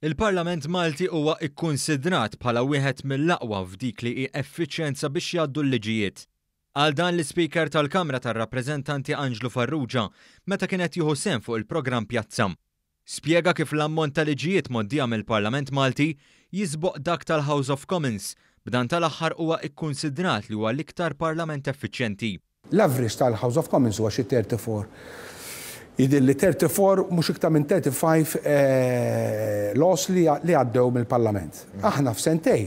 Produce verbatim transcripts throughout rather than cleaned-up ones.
Il-Parlament Malti huwa ikkunsidrat bħala wieħed mill-aqwa f'dik li hi effiċjenza biex jgħaddu l-liġijiet. Qal dan l-Ispeaker tal-Kamra tar-Rappreżentanti Anġlu Farrugia meta kien qed jieħu sehem fuq il-programm Pjazza. Spjega kif l-ammont ta' liġijiet mgħoddija mill-Parlament Malti jisboq dak tal-House of Commons, b'dan tal-aħħar huwa ikkunsidrat li huwa l-iktar parlament effiċjenti. L-average tal-House of Commons huwa xi thirty-four. Jidhirli thirty-four, mhux iktar minn thirty-five laws li għaddew mill-Parlament. Aħna f'sentej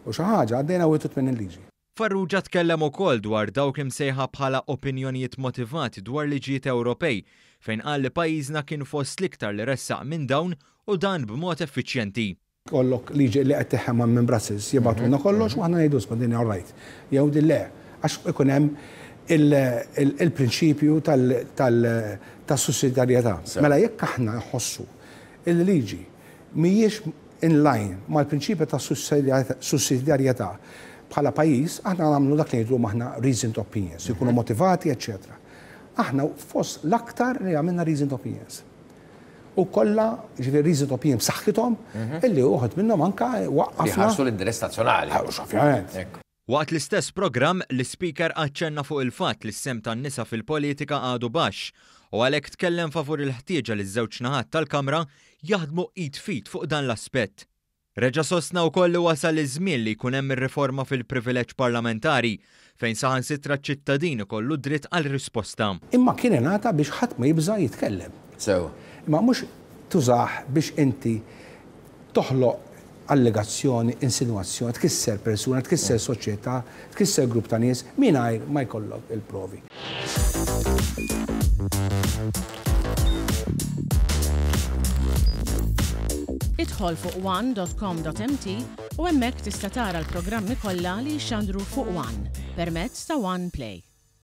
u xi ħaġa għaddejna wieħed u tmenin liġi. Farrugia tkellem ukoll dwar dawk imsejħa bħala opinjonijiet motivati dwar liġijiet Ewropej, fejn qal li pajjiżna kien fost l-iktar li ressaq minn dawn u dan b'mod effiċjenti. Kollok liġi li qed teħem minn Brussels jibgħatulna kollox u aħna ngħidu isma' din all right. Jew din le, għax ikun hemm il-prinċipju tas-sussidjarjetà. Mela jekk aħna nħossu il-liġi mhijiex in line mal-prinċipju tas-sussidjarjetà bħala pajjiż, aħna nagħmlu dak li ngħidu aħna reasoned opinions, ikunu motivati, eċċetera. Aħna fost l-aktar li għamilna reasoned opinions. U kollha, ġifieri reasoned opinions b'saħħithom, illi uħud minnhom anka waqqafna. Jħarsu l-interess nazzjonali. Ovvjament. Waqt l-istess programm, l-Ispeaker aċċenna fuq il-fatt li s-sehem tan-nisa fil-politika għadu baxx u għalhekk tkellem favur il-ħtieġa li ż-żewġ naħat tal-Kamra jaħdmu id f'id fuq dan l-aspett. Reġa' sostna wkoll li wasal iż-żmien li jkun hemm ir-riforma fil-privileġġ parlamentari fejn saħansitra ċ-ċittadin ikollu dritt għal risposta. Imma kien ingħata biex ħadd ma jibża' jitkellem. Sew. Imma mhux tużah biex inti toħloq allegazzjoni, insinuazzjoni, tkisser persuna, tkisser soċjetà, tkisser grupp ta' nies mingħajr ma jkollok il-provi. Idħol fuq one dot com dot m t u hemmhekk tista' tara l-programmi kollha li jxandru fuq One permezz ta' One Play.